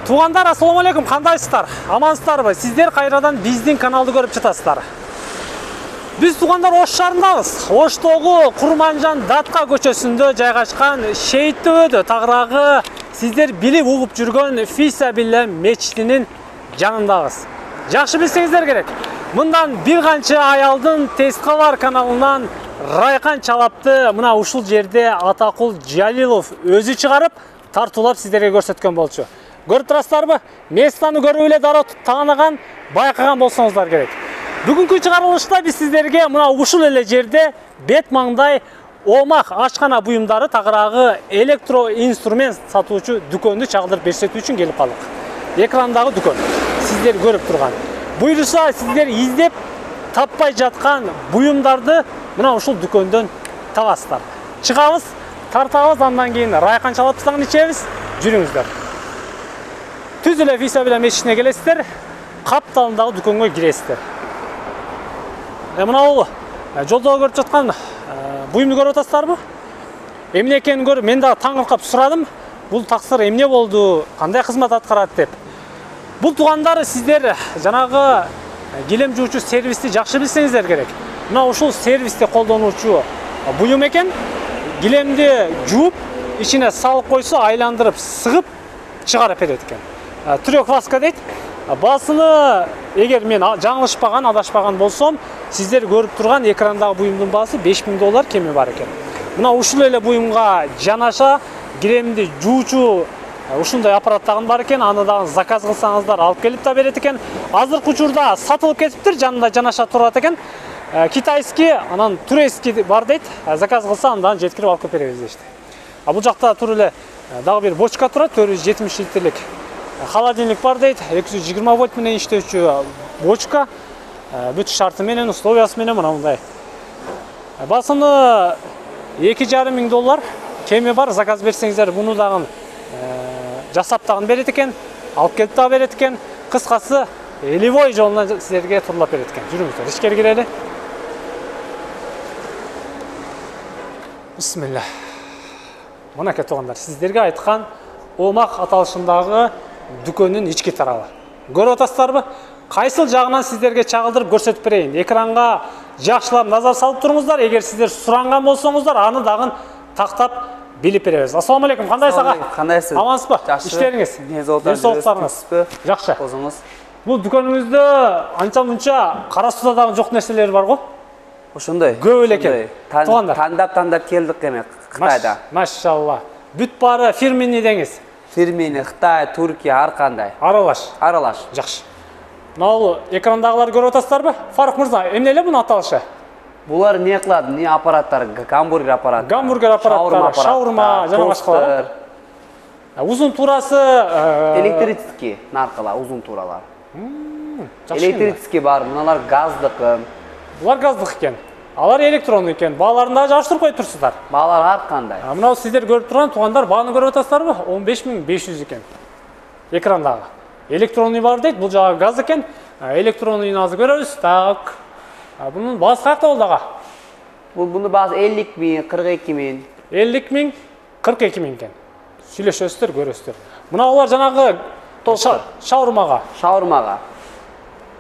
Туугандар, ассаламу алейкум, кандайсыздар? Амансыздарбы? Сиздер кайрадан биздин каналды көрүп жатасыздар. Биз туугандар Ош шаарындабыз. Оштогу Курманжан Датка көчөсүндө жайгашкан Шейит дөбөдө тагыраагы сиздер билип угуп жүргөн Фисабилла мечитинин жанындабыз. Жакшы билсеңиздер керек. Мындан бир канча ай алдын Тескалар каналынан Райкан Чалапты мына ушул жерде Атакул Жалилов өзү чыгарып, тартуулап сиздерге көрсөткөн болчу. Көрүп турасыздарбы? Местаны көрүп эле дароо тааныган, байкаган болсоңуздар керек. Бүгүнкү чыгарылышта биз сиздерге мына ушул эле жерде бет маңдай омак ашкана буюмдары тагыраагы электроинструмент сатуучу дүкөндү чагылдырып көрсөтүү үчүн келип калдык. Экрандагы дүкөн сиздер көрүп турган. Буюрса сиздер издеп таппай жаткан буюмдарды мына ушул дүкөндөн табасыздар. Чыгабыз, тартабыз, андан кийин Райкан Чалапты ичебиз. Жүрүңүздөр. Түз эле Фисабилла мечитине келесиздер, капталындагы дүкөнгө киресиздер. Мына бул жолдо көрүп жаткан буюмду көрүп атасыздарбы? Эмне экенин көрүп, мен дагы таң калып сурадым. Бул таксыр эмне болду, кандай кызмат аткарат деп. Бул туугандар сиздер жанагы килем жуучу сервисти жакшы билсеңиздер керек. Мына ушул сервисти колдонуучу буюм экен. Килемди жууп, ичине салып койсо, айландырып, сыгып чыгарып берет экен. Трёхваска дейт. Басыны, эгер мен жаңылышпаган, адашпаган болсом, сиздер көрүп турган экрандагы буюмдун баасы $5000 кеми бар экен. Мына ушул эле буюмга жанаша килемди жуучу ушундай аппарат дагы бар экен. Аны дагы заказ кылсаңыздар алып келип да берет экен. Азыркы учурда сатылып кетиптир, жанында жанаша турат экен. Китайский, анан турецкий бар дейт. Заказ кылса андан жеткирип алып келип беребиз дешти. Бул жакта тур эле дагы бир бочка турат, 470 литрлик. Холодильник бар дейт, 220 вольт менен иштөөчү бочка. Бүт шарты менен, условиясы менен мына мындай. Басыны $2500 кеми бар, заказ берсеңиздер буну дагы жасап дагы берет экен, алып келип дагы берет экен. Кыскасы, элевой жолунан сиздерге турлап берет экен. Жүрүңүздөр, ичкери кирели. Бисмилла. Мынакей туугандар, сиздерге айткан омак аталышындагы дүкөндүн ички тарабы. Көрүп атасыздарбы? Кайсыл жагынан сиздерге чагылдырып көрсөтүп берейин. Экранга жакшылап назар салып туруңуздар. Эгер сиздер суранган болсоңуздар, аны дагы тактап билип беребиз. Ассаламу алейкум, кандайсыз ага? Кандайсыз? Амансызбы? Иштериңиз? Денсаулыктарыңыз жакшы. Өзүңүз? Бул дүкөнүңүздө анча-мунча кара суда дагы жок нерселер бар го? Ошондой. Көп эле экен. Тандап келдик эме Кытайда. Машалла. Бүт баары фирменный деңиз. Фирменный, Кытай, Түркия, ар кандай. Аралаш. Жакшы. Мына бул экрандагыларды көрүп атасыздарбы? Фарук мырза, эмне эле бунун аталышы? Булар не кылат? Не аппараттар? Гамбургер аппараты. Гамбургер аппараттары, шаурма, жана башкалар. Узун турасы электрический наркала, узун туралар. Электрический бар, мыналар газдык. Булар газдык экен. Алар электронный экен. Бааларын да жаштырып коюп турсуздар. Баалар ар кандай. Мына сиздер көрүп турган туугандар, бааны көрүп атасыздарбы? 15500 экен. Экрандагы. Электронный бар дейт, бул жагы газ экен. Электронныйын азыр көрөбүз. Так. Бунун баасы кайда болду ага? Бунун баасы 50000, 42000. 50000, 42000 экен. Сүйлөшөсүздөр, көрөсүздөр. Мына алар жанагы шаурмага.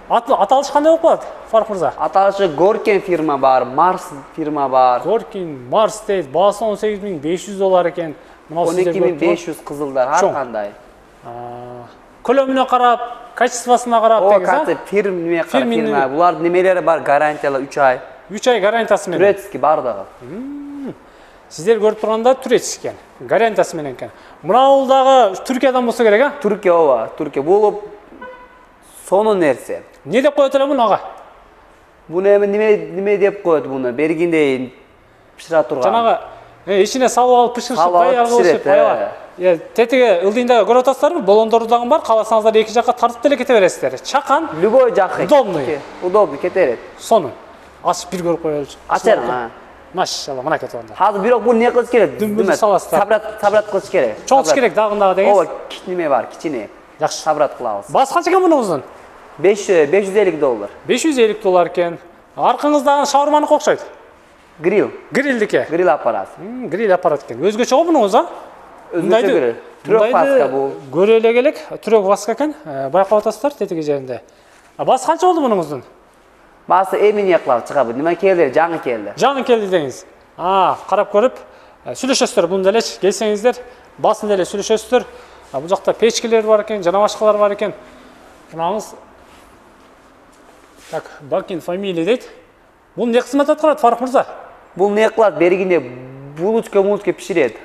Аталыш кандай болуп калат, Фарук мырза? Аталышы Горкин фирма бар, Марс фирма бар. Горкин, Марс дейт, баасы $18500 экен. 12500 кызылдар, ар кандай. Көлөмүнө карап, качествосуна карап деңиз, а? Фирма. Булар немелери бар, гарантиялар 3 ай. 3 ай гарантиясы менен. Турецкий бар дагы. Сиздер көрүп турганда турецкий экен, гарантиясы менен экен. Мына бул дагы Түркиядан болсо керек, а? Түркия ооба, Түркия. Бул сонун нерсе. Не деп коет эле муну ага? Буну эми неме деп коет буну? Бергиндей пишира турган. Жанагы ичине салып алып пиширишип, даяр кылышып, аябай. Тетиги ылдыйындагы көрүп атасыздарбы? Балондору дагы бар, кааласаңыздар эки жакка тартып деле кете бересиздер. Чакан, любой жакка. Удобный кете берет. Сонун. Ачып бир көрүп коелучу. Ачар. Машалла, мына кетип. Азыр бирок бул не кылыш керек? Сабрат кылыш керек. Чоңуш керек дагы деңиз. Ооба, кичине бар, кичине. Жакшы. Сабрат кылабыз. Баасы канча экен мунун? $550. $550 экен. Аркаңыздагы шаурманыкы окшойт. Гриль. Грилдики. Гриль аппарат. Гриль аппарат экен. Өзгөчө го мунуңуз, а? Өзгөчө гриль. Түрөк васка бул. Көрө эле келек, түрөк васка экен. Байкап атасыздар тетиги жеринде. Басы канча болду мунуңуздун? Басы эмне кылып чыгабы? Нема келди? Жаңы келди. Жаңы келди деңиз. Карап көрүп сүйлөшөсүздөр. Бунда элеч келсеңиздер, басында эле сүйлөшөсүздөр. Бул жакта печкелер бар экен, жана башкалар бар экен. Мынаңыз так, Бакин фамилия дейт. Бул эмне кызмат аткарат, Фарук мырза? Бул эмне кылат? Бергенде булочка пиширет.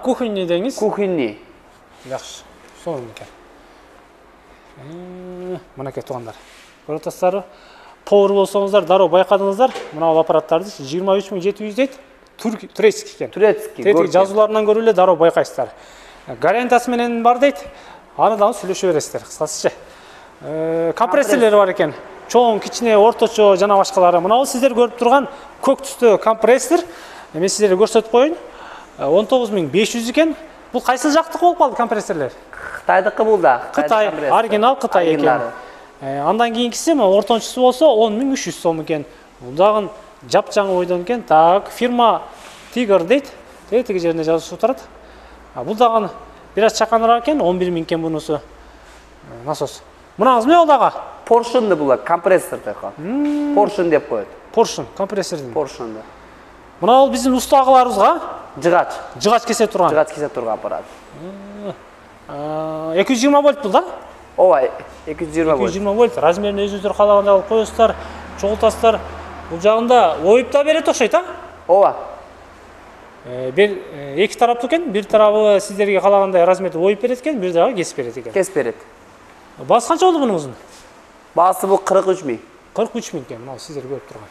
Кухонный деңиз. Кухонный. Жакшы. Сонун экен. Мынакей туугандар. Көрүп атасыздарбы? Повар болсоңуздар, дароо байкадыңыздар. Мына бул аппараттарды 23700 дейт. Турецкий экен. Турецкий. Тетиги жазууларынан көрүп эле дароо байкайсыздар. Гарантиясы менен бар дейт. Аны дагы сүйлөшө бересиздер, кыскасыча. Компрессорлор бар экен. Чоң, кичине, орточо жана башкалары. Мына бул сиздер көрүп турган көк түстүү компрессор. Мен сиздерге көрсөтүп коеюн. 19500 экен. Бул кайсы жактыкы болуп калды компрессорлор? Кытайдыкы бул да. Кытай, оригинал Кытай экен. Андан кийинкиси ортончусу болсо 10300 сом экен. Бул дагы жапжаңы ойдон экен. Так, фирма Tiger дейт. Тетиги жеринде жазылып турат. Бул дагы бир аз чаканыраак экен, 11000 экен бунусу. Насос. Мынаңыз эмне болду ага? Поршунду бул компрессор деп коет. Поршун деп коет. Поршун, компрессордун. Поршунду. Мына бул биздин устаагыларыбызга жыгач кесе турган. Жыгач кесе турган аппарат. 220 вольт бул да? Ооба, 220 вольт. 220 вольт. Размерин өзүңүздөр каалагандай алып коесуздар, чогултасыздар. Бул жагында оюп да берет окшойт, Ооба. Бир эки тараптуу экен, бир тарабы сиздерге каалагандай размерде оюп берет экен, бир дагы кесип берет экен. Кесип берет. Басы канча болду мунуңуздун? Басы бул 43000. 43000 экен, мына сиздер көрүп турган.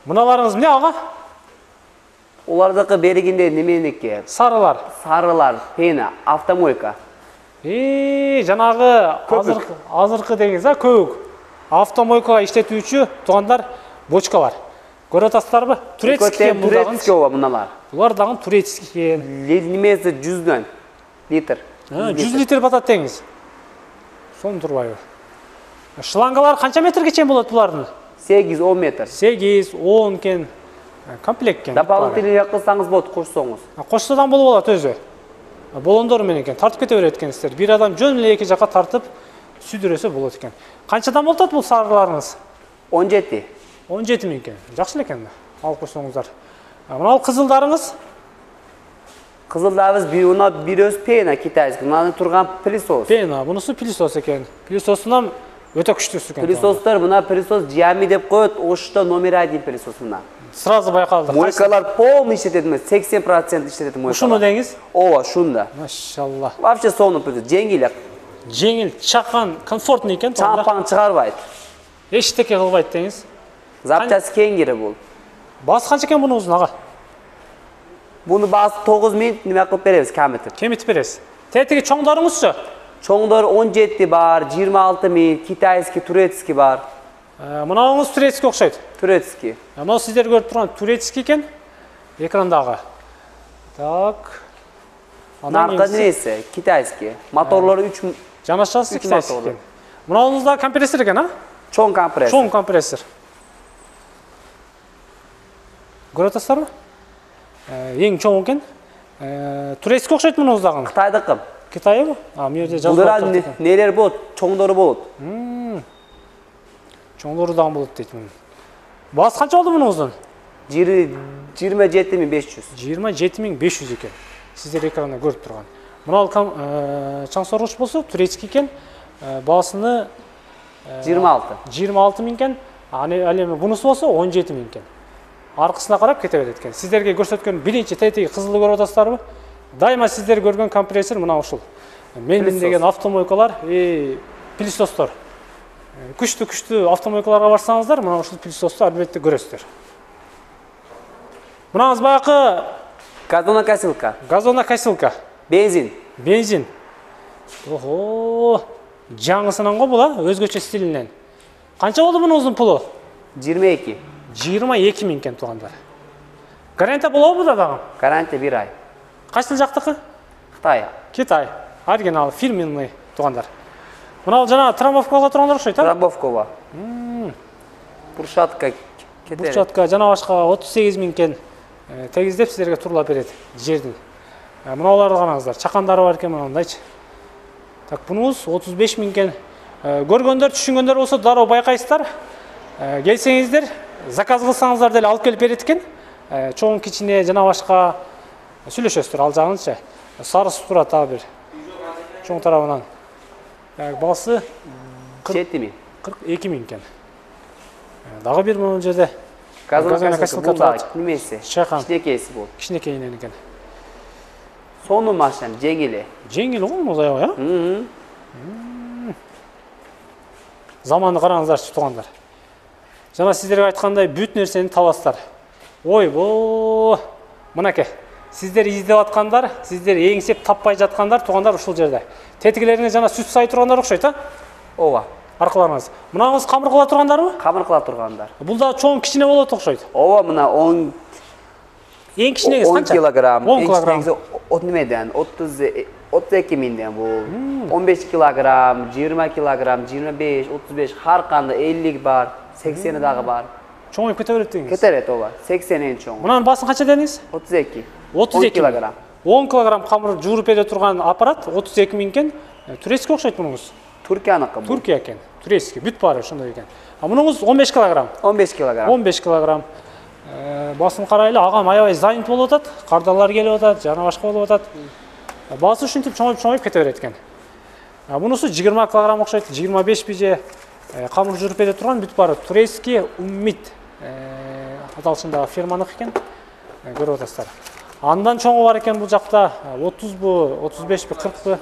Мыналарыңыз эмне ага? Улардыкы бергенде неменеки? Сарылар. Сарылар, пена, автомойка. Жанагы азыркы деңиз, көк. Автомойкага иштетүүчү туугандар бочкалар. Көрүп атасыздарбы? Турецкий бул дагы. Турецкий ооба мыналар. Булар дагы турецкий экен. Немеси 100 литр. 100 литр батат деңиз. Сон турбайбы? Шлангалар канча метрге чейин болот булардын? 8-10 метр. 8-10 экен. Комплект экен. Дополнительный кылсаңыз болот, кошсоңуз. Кошсодан болуп алат өзү. Болондор менен экен. Тартып кете берет экенсиздер. Бир адам жөн эле эки жака тартып сүдүрөсө болот экен. Канчадан болот бул сарыларыңыз? 17. 17000 экен. Жакшы эле экен. Алып койсоңуздар. Мына кызылдарыңыз? Кызылдарыбыз бир өз пена китайский. Мына турган пылесос. Пена, бунусу пылесос экен. Пылесосунан өтө күчтүүсү экен. Пылесостор мына пылесос Xiaomi деп коет, ошто номер 1 пылесос мына. Сразу байкалды. Мойкалар полный иштетет, 80% иштетет мойкалар. Ушуну деңиз? Ооба, шунда. Машалла. Вообще сонун пылесос, жеңил. Жеңил, чакан, комфортный экен. Чампаң чыгарбайт. Эчтеке кылбайт деңиз. Запчасти кеңири бул. Басы канча экен бунуңуздун ага? Буну басы 9000 неме кылып беребиз, каметип. Кемитип бересиз. Тетиги чоңдорыңузчу? Чоңдор 17 бар, 26000, китайский, турецкий бар. Мынауңуз турецкий окшойт. Турецкий. Мына сиздер көрүп турган турецкий экен. Экрандагы. Так. Наркы несі? Китайский. Моторлары 3 жанашасы китайский экен. Мынауңузда компрессор экен, Чоң компрессор. Чоң компрессор. Көрүп атасыздарбы? Эң чоң экен. Турецкий окшойт мунуңуздагы. Кытайдыкы. Китайбы? Бул жерде жазылып атат. Нелер болот? Чоңдору болот. Чоңдору дагы болот дейт муну. Басы канча болду мунуңуздун? 27500. 27500 экен. Сиздер экранда көрүп турган. Мына чаң соргуч болсо турецкий экен. Басыны 26000 экен. Ал эми бунусу болсо 17000 экен. Аркысына карап кете берет экен. Сиздерге көрсөткөн биринчи тетиги кызылды көрүп атасыздарбы? Дайыма сиздер көргөн компрессор мына ушул. Менин деген автомойкалар, пылесостор. Күчтүү автомойкаларга барсаңыздар, мына ушул пылесосту албетте көрөсүздөр. Мынаңыз баягы газонокосилка. Газонокосилка. Бензин. Охо. Жаңысынан го бул, өзгөчө стилинен. Канча болду мунуңуздун пулу? 22. 22000 экен туугандар. Гарантия болобу да дагы? Гарантия 1 ай. Кайсы жактыкы? Китай. Оригинал, фирменный туугандар. Мына жана трамбовкага турган окшойт, Трамбовкага. Буршатка кетер. Буршатка жана башка 38000 экен. Тегиздеп сиздерге турлап берет жердин. Мыналарды караңыздар. Чакандары бар экен мынандайчы. Так, бунуңуз 35 миң экен. Көргөндөр, түшүнгөндөр болсо дароо байкайсыздар. Келсеңиздер, заказ кылсаңыздар деле алып келип берет экен. Чоң, кичине жана башка сүйлөшөсүздөр ал жагынча. Сарысып турат а бир. Чоң тарабынан. Басы 7 миң. 42 миң экен. Дагы бир могу жерде Газона касылка бар. Немеси? Чайкан. Кичинекейси бул. Кичинекейинен экен. Сонун машина, жеңили. Жеңил го музай го, Заманды караңыздарчы туугандар. Жана сиздерге айткандай бүт нерсени табасыздар. Ойбо! Мынакей. Сиздер издеп аткандар, сиздер эңсеп таппай жаткандар туугандар ушул жерде. Тетигилериңиз жана сүт сай тургандар окшойт, а? Ооба. Аркыларыңыз. Мынаңыз камыр кыла тургандарбы? Камыр кыла тургандар. Бул да чоң кичине болот окшойт. Ооба, мына 10 Эң кичинеги канча? 10 килограмм. 10 килограмм. От немеден? 32 миңден бул. 15 килограмм, 20 килограмм, 25, 35, ар кандай 50 бар, 80 дагы бар. Чоңоюп кете берет деңиз. Кете берет ооба. 80 эң чоң. Мунун басын канча дедиңиз? 32. 32 килограмм. 10 килограмм камыр жууруп бере турган аппарат 32 миң экен. Турецкий окшойт мунуңуз. Туркияныкы бул. Туркия экен. Турецкий бүт баары ошондой экен. Мунуңуз 15 килограмм. 15 килограмм. 15 килограмм. Басын карайлы, агам аябай занят болуп атат. Кардалар келип атат, жана башка болуп атат. Басы ушинтип чоңоюп кете берет экен. Мунусу 20 килограмм окшойт, 25 бije камыр жууруп бере турган бүт баары турецкий уммит аталышындагы фирманыкы экен. Көрүп атасыздар. Андан чоңу бар экен бул жакта 30бу, 35би, 40бы.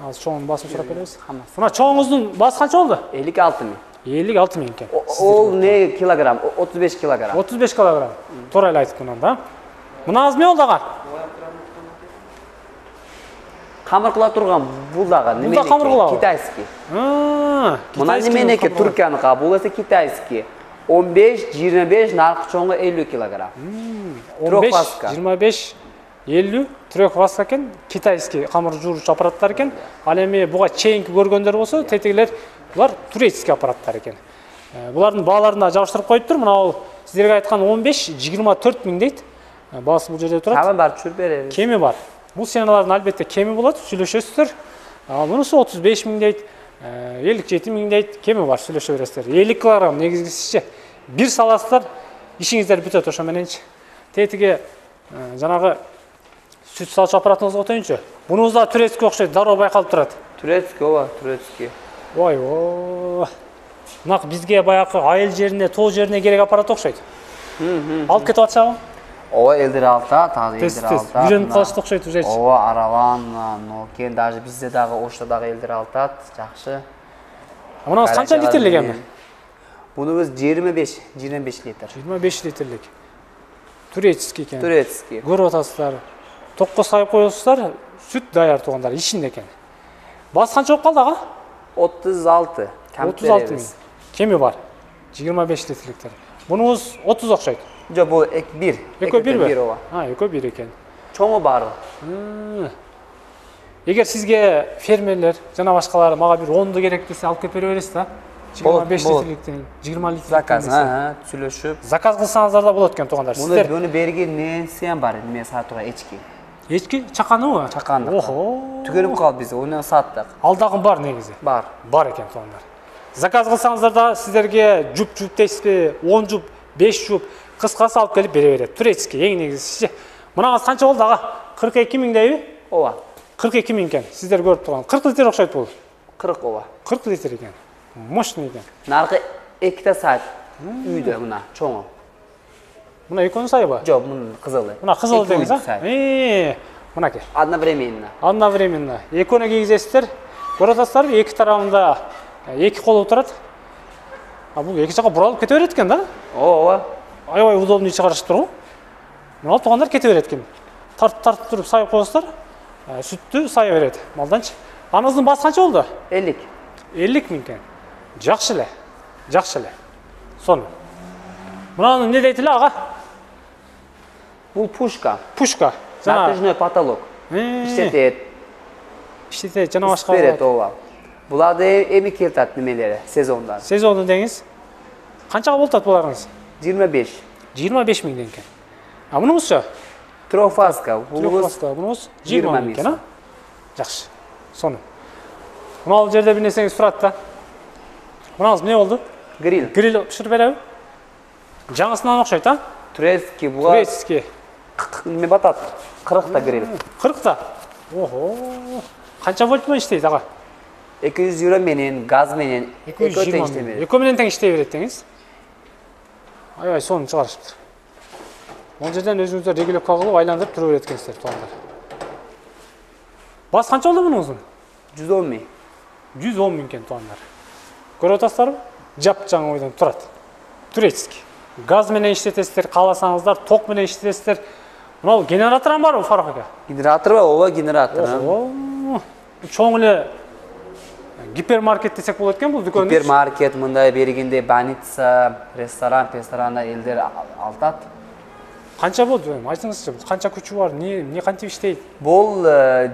Азыр чоңун басын сурап беребиз. Мына чоңуңуздун басы канча болду? 56 миң. 56 миң экен. Ол не килограмм? 35 килограмм. 35 килограмм. Туура эле айтып мындан да. Мынаңыз эмне болду ага? Камыр кыла турган бул дагы неме? Бул да камыр кылабы? Китайский. Мына неменеки Туркияныкы, бул эсе китайский. 15, 25, наркы чоңу 50 килограмм. 15, 25, 50 трехваска экен, китайский камыр жууручу аппараттар экен. Ал эми буга чейинки көргөндөр болсо, тетигилер булар турецкий аппараттар экен. Булардын бааларына жабыштырып коюптур. Мына бул сиздерге айткан 15, 24 миң дейт. Баасы бул жерде турат. Кеми бар, чүр беребиз. Кеми бар. Бул сеналардын албетте кеми болот, сүйлөшөсүздөр. Мунусу 35 миң дейт, 57 миң дейт, кеми бар, сүйлөшө бересиздер. 50 килограмм негизгисичи. Бир саласыздар, ишиңиздер бүтөт ошо мененчи. Тетиги жанагы сүт салчу аппаратыңызга отоюнчу. Бунуңуз да турецкий окшойт, дароо байкалып турат. Турецкий, ооба, турецкий. Ой, мына бизге баягы айыл жерине, тоо жерине керек аппарат окшойт. Алып кетип атышабы? Ооба, элдер алтат, азыр элдер алтат. Үйрөнүп калышты окшойт уже. Ооба, араван, нокен, даже бизде дагы ошто дагы элдер алтат, жакшы. Мынаңыз канча литрлик эми? Бунубуз 25 литр. 25 литрлик. Турецкий экен. Турецкий. Көрүп атасыздар. Токко сайып коесуздар, сүт даяр туугандар, ишинде экен. Басы канча болуп калды ага? 36. 36 миң. Кеми бар. 25 литрликтер. Бунуңуз 30 окшойт. Жок, бул 1. Экөө бирби? ооба. Экөө бир экен. Чоңу бар. Эгер сизге фермерлер жана башкалар мага бир 10ду керек десе алып келип бере бересиз да? 25 литрликтен, 20 литрликтен. Заказ, сүйлөшүп. Заказ кылсаңыздар да болот экен туугандар. Муну берген нерсе бар, эме сатууга эчки. Эчки чаканыбы? Чаканды. Охо. Түгөнүп калды бизде, оны саттык. Ал дагы бар негизи. Бар. Бар экен туугандар. Заказ кылсаңыздар да сиздерге жуп дейсизби, 10 жуп, 5 жуп, кыскасы алып келип бере берет. Турецкий эң негизичи. Мынаңыз канча болду ага? 42 миң дейби? Ооба. 42 миң экен. Сиздер көрүп турган. 40 литр окшойт бул. 40 ооба. 40 литр экен. Мощный экен. Наркы 2 саат үйдө мына чоңу. Мына экөөнүн сайыбы? Жок, мунун кызылы. Мына кызыл деңиз, а? Мынакей. Одновременно. Экөөнү кийгизесиздер. Көрүп атасыздарбы, эки тарабында эки колу турат. Бул эки жака буралып кете берет экен да? Ооба. Аябай удобный чыгарышыптыр го. Мына туугандар кете берет экен. Тартып туруп сайып коесуздар. Сүттү сая берет малданчы. Аныңыздын басы канча болду? 50. 50 миң экен. Жакшы эле. Сонун. Мунаны эмне дейт эле ага? Бул пушка. Затяжной потолок. Иштетет жана башка. Берет, ооба. Буларды эми келтат немелери, сезондан. Сезондун деңиз. Канчага болот буларыңыз? 25. 25 миңден экен. Мунуңузчу? Трехфазка. Bunumuz 20 20 ming ekan, ha? Yaxshi. Sonu. Mana bu yerda bir narsangiz turadi da. Bunamiz ne oldu? Grill. Grill pishirib beradi. Жаңысынан o'xshaydi, ha? Турецкий, bu Турецкий. nima batat? 40 ta grill. 40 ta. Oho. Qancha volt bilan ishlaydi, ag'a? 200 euro menen, gaz menen, 220 teng ming. işlemedi. Eko bilan teng ishlayveradi dengiz. Ay, sonu chiqarishibdi. Бұл жерден өзіңіздер регулировка қылып айландырып тұрып өткенсіздер туғандар. Бас қанша болды бұның ұзын? 110 ming. 110 мың екен туғандар. Көріп отырсыздар ма? Жап жаңа ойдан тұрады. Турецкий. Газ менен иштетесіздер, қаласаңыздар, ток менен иштетесіздер. Мынау генератор бар ма Фарух ака? Генератор ба? Ооба генератор. Чоң эле гипермаркет десек болот экен бул дүкөнү. Гипермаркет мындай бергенде больница, ресторанда элдер алтат. Канча болду? Айтыңызчы, канча күчү бар? Не кантип иштейт? Бул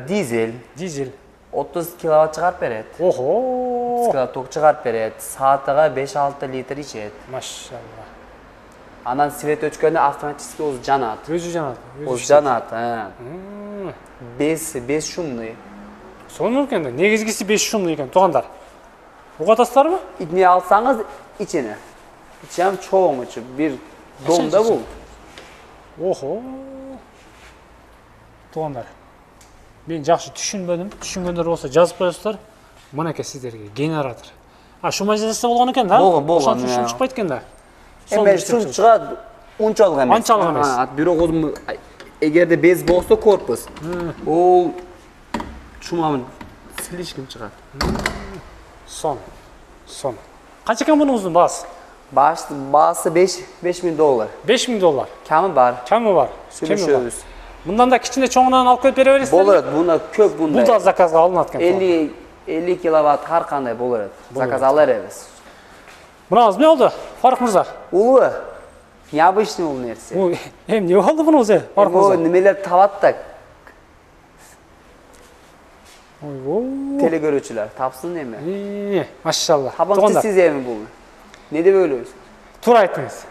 дизель. Дизель. 30 киловатт чыгарып берет. Охо. 30 киловатт ток чыгарып берет. Саатыга 5-6 литр ичет. Машалла. Анан свет өчкөндө автоматически өзү жанат. Өзү жанат. Өзү жанат. 5 шумный. Сонун экен да. Негизгиси 5 шумный экен, туугандар. Угатасыздарбы? Итне алсаңыз ичине. Ичем чоң ичи, бир домда бул. Охо. Туугандар. Мен жакшы түшүнбөдүм. Түшүнгөндөр болсо жазып коесуздар. Мынакей сиздерге генератор. Шум маселеси болгон экен да? Болгон. Шум чыкпайт экен да. Эме шум чыгат, унчалык эмес. Анчалык эмес. Бирок эгерде без болсо корпус, ол шуманы слишком чыгат. Сон. Канча экен мунун узун баасы? Баасы $5,000. $5,000. Камы бар. Сүйлөшөбүз. Мындан да кичине чоңунан алып келип бере бересиздер. Болот, буна көп Бул да заказга алынат экен. 50 киловатт ар кандай болот. Заказ ала беребиз. Мына эмне болду? Фарух мырза. Улуу. Необычный ул нерсе. Эмне болду муну өзү? Фарух мырза. Немелер табат да. Ой, Телекөрүүчүлөр тапсын эми. Машалла. Табанчы сиз эми бул. Не деп ойлойсуз? Туура айттыңыз.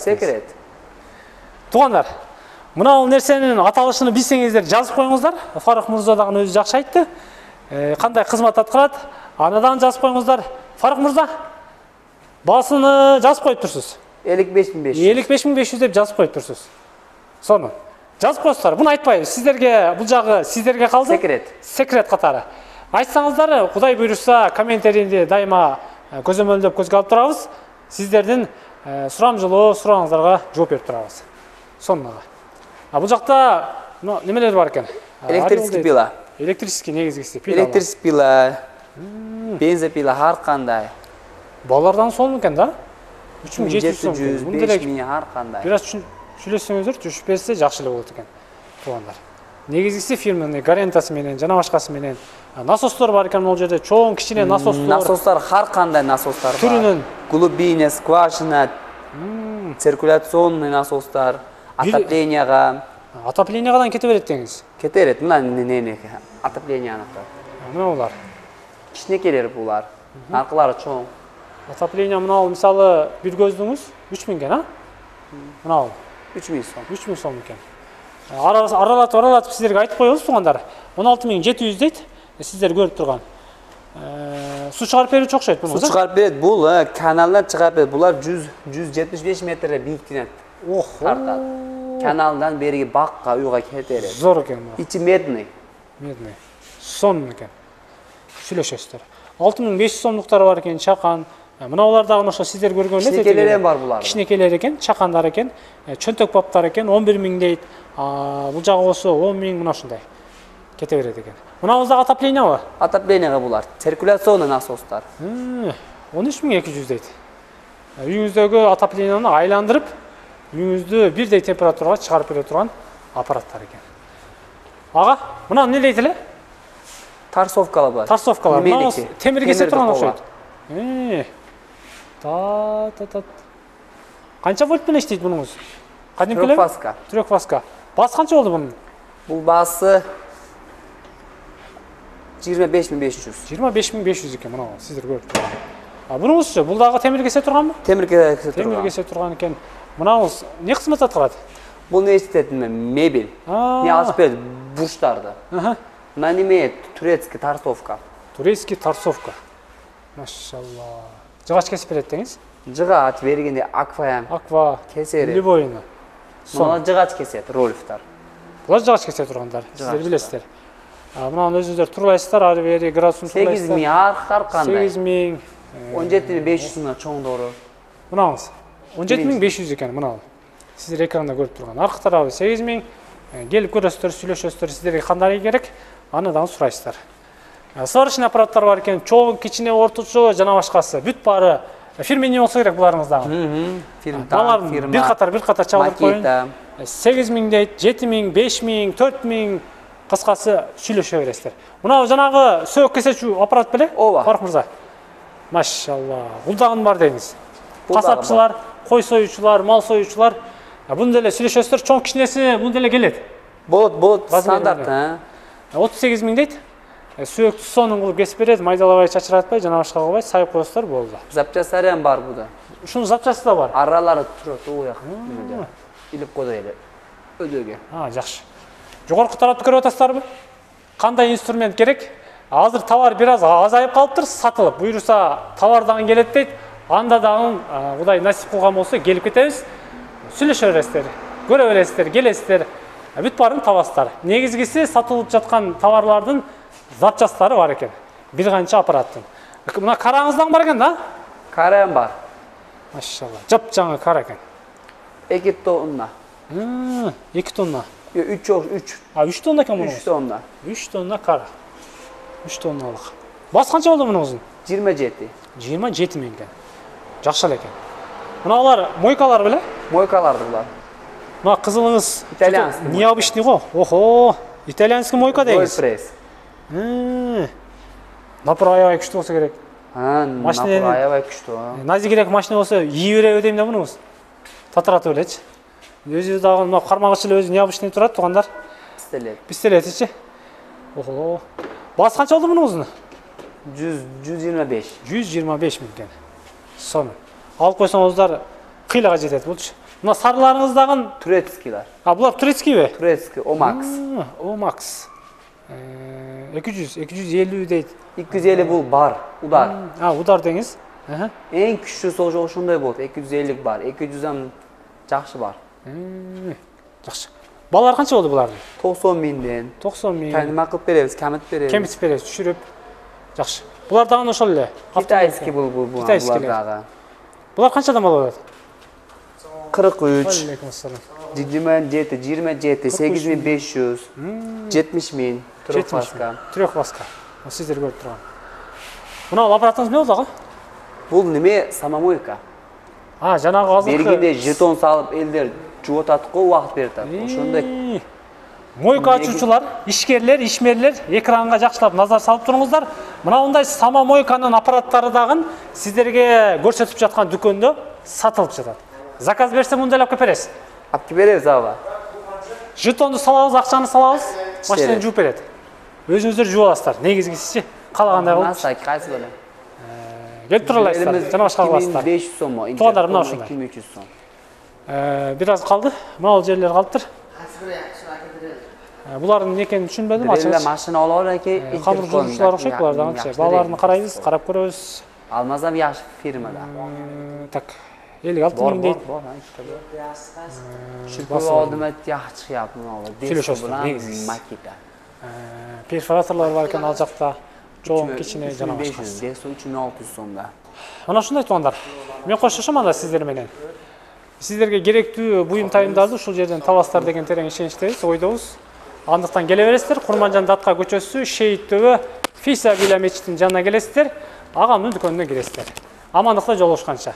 Секрет. Туугандар, мына бул нерсенин аталышын билсеңиздер жазып коюңуздар. Фарух мырза дагы өзү жакшы айтты. Кандай кызмат аткарат? Анадан жазып коюңуздар. Фарух мырза, баасыны жазып коюп турсуз. 55.500. 55.500 деп жазып коюп турсуз. Сону жазып коесуздар. Буну айтпайбыз. Сиздерге бул жагы сиздерге калды. Секрет катары. Айтсаңыздар, Кудай буйруса, комментарийди дайыма көзөмөлдөп көзгө алып турабыз. Сиздердин сурамжылоо сурооңуздарга жооп берип турабыз. Сонуга. Бул жакта немелер бар экен? Электрический пила. Электрический негизгиси пила. Электрический пила. Бензопила ар кандай. Балардан сонун экен да? 3700 сом. 5000 ар кандай. Бираз сүйлөсөңүздөр түшүп берсе жакшы эле болот экен. Туугандар. Негизгиси фирманын гарантиясы менен жана башкасы менен насостор бар экен бул жерде. Чоң кичине насостор. Насостар ар кандай насостар бар. Түрүнөн Глубина, скважина, циркуляционный насостар, отоплениега. Отоплениегадан кете берет деңиз. Кете берет. Мына нени отоплениени. Мына булар. Кичинекелер булар. Аркылары чоң. Отопление мына мисалы бир көздүңүз 3000 экен, а? Мына 3000 сом. 3000 сом экен. Аралатып сиздерге айтып коебуз туугандар. 16700 дейт. Сиздер көрүп турган. Су чыгарып берүүчү окшойт буну. Су чыгарып берет. Бул каналдан чыгарып берет. Булар 175 метрге бийиктенет. Охо. Каналдан берги бакка уйга кетерет. Зор экен бу. Ичи медный. Сон экен. Сүйлөшөсүздөр. 6500 сомдуктары бар экен, чакан. Мына булар дагы ошо сиздер көргөн эле. Кичинекелер бар булар. Кичинекелер экен, чакандар экен, чөнтөк баптар экен, 11000 дейт. Бул жагы болсо 10000 мына ушундай. Кете берет экен. Мына дагы отоплениеби? Отоплениега булар. Циркуляционный насостар. 13200 дейт. Үйүңүздөгү отоплениени айландырып, үйүңүздү бирдей температурага чыгарып бере турган аппараттар экен. Ага, мына эмне дейт эле? Тарсовкалар бар. Тарсовкалар. Мына темир кесе турган окшойт. Канча вольт менен иштейт бунуңуз? Кадимкилер? Трехфазка. Баасы канча болду бунун? Бул баасы 25500. 25500 экен мына сиздер көрүп турган. Бунуңузчу, бул дагы темир кесе турганбы? Темир кесе турган. Темир кесе турган экен. Мынаңыз не кызмат аткарат? Бул не иштетим мебель. Не алып берди бурчтарды. Мына неме турецкий торцовка. Турецкий торцовка. Машалла. Жыгач кесип берет деңиз? Жыгач бергенде аква кесери. Любойну. Мына жыгач кесет ролифтар. Булар жыгач кесе тургандар. Сиздер билесиздер. Мына өзүңүздөр турлайсыздар, ары бери градусын турлайсыздар. 8000 ар кандай. 8000 17500 мына чоңдору. Мынаңыз 17500 экен, мына. Сиздер экранда көрүп турган. Аркы тарабы 8000. Келип көрөсүздөр, сүйлөшөсүздөр, сиздерге кандай керек, аны дагы сурайсыздар. Сварочный аппараттар бар экен, чоң, кичине, орточо жана башкасы. Бүт баары фирменный болсо керек буларыңыздагы. Фирма. Бир катар чагылдырып коюн. 8000 дейт, 7000, 5000, 4000 кыскасы сүйлөшө бересиздер. Мына жанагы сөөк кесечү аппарат беле? Фарук мырза. Машалла. Бул дагы бар деңиз. Касапчылар, кой союучулар, мал союучулар бун деле сүйлөшөсүздөр, чоң кичинеси бун деле келет. Болот, стандарт, 38000 дейт. Сөөктү сонун кылып кесип берет, майдалабай, чачыратпай, жана башка кылбай, сайып коесуздар, болду. Запчастары ham бар буда. Ушунун запчасы да бар. Аралары турат, у жак. Илип койду эле. Өдөгө. Жакшы. Жогорку тарапты көрүп атасыздарбы? Кандай инструмент керек? Азыр товар бир аз азайып калыптыр, сатылып. Буйруса товар дагы келет дейт. Анда дагы Кудай насип кылган болсо келип кетебиз. Сүйлөшө бересиздер, көрө бересиздер, келесиздер. Бүт баарын табасыздар. Негизгиси сатылып жаткан товарлардын запчастары бар экен. Бир канча аппараттын. Мына караңыздан бар экен да? Карам бар. Машалла. Жап-жаңы кара экен. 2 тонна. 2 тонна. 3. 3 тонна экен муну. 3 тонна. 3 тонна кара. 3 тонналык. Бас канча болду мунун? 27. 27 миң экен. Жакшы эле экен. Мына алар мойкалар беле? Мойкаларды булар. Мына кызылыңыз итальянский. Необычный го. Охо, итальянский мойка деңиз. Пресс. Напор аябай күчтүү болсо керек. Напор аябай күчтүү. Назигирээк машина болсо ийи береби дейм да мунуңуз. Татыратып элечи. Өзү дагы мына кармагыч эле өзү необычный турат тугандар. Пистолетичи. Охо. Бас канча болду мунуңуздун? 125. 125 миң экен. Сонун. Алып койсоңуздар кыйлага жетет болчу. Мына сарыларыңыз дагы турецкийлер. Булар турецкийби? Турецкий, Омакс. Омакс. 250 дейт. 250 бул бар, удар. Удар деңиз. Эң күчтүүсү ошондой болот. 250 бар, 200 жакшы бар. Жакшы. Балар канча болду булардын? 90 миңден. 90 миң. Тайма кылып беребиз, камытып беребиз. Кемитип беребиз, түшүрүп. Жакшы. Булар дагы ошол эле. Китайский булар дагы. Булар канчадан болот? 43. Алейкум ассалам. 27, 8500, 70 миң. Трёхваска. Сиздер көрүп турган. Мына аппаратыңыз эмне болду ага? Бул неме самомойка. Жанагы азыркы. Бергенде жетон салып элдер жуып атат го, убакыт берип атат. Ошондой. Мойка ачуучулар, ишкерлер, ишмерлер экранга жакшылап назар салып туруңуздар. Мына мындай самомойканын аппараттары дагы сиздерге көрсөтүп жаткан дүкөндө сатылып жатат. Заказ берсе мындай алып бересиз. Алып беребиз аба. Жетонду салабыз, акчаны салабыз, машинаны жууп берет. Өзүңүздөр жууп аласыздар. Негизгиси калагандай кылып. Насай кайсы беле? Келип тура аласыздар. Жана башка кыласыздар. 2500 соммо. Туугандар мына ушундай. 2300 сом. Бир аз калды. Мына жерлер калыптыр. Булардын экенин түшүнбөдүм, ачыгы. Эле машина алып экен. Камыр жуучулар окшойт булардагы. Балаларын карайбыз, карап көрөбүз. Алмазам яш фирмада. Так. 56 миң дейт. Шүпүр алдым яхшы чыгып мына. Сүйлөшөсүз. Макета. Перфораторлор бар экен ал жакта. Чоң, кичине жана башка. 3600 сомда. Мына ушундай туугандар. Мен коштошом анда сиздер менен. Сиздерге керектүү буюм тайымдарды ушул жерден табасыздар деген терең ишеничтебиз, ойдобуз. Андыктан келе бересиздер. Курманжан Датка көчөсү, Шейит төбө, Фиса Вила мечитинин жанына келесиздер. Агамдын дүкөнүнө киресиздер. Амандыкта жолугушканча.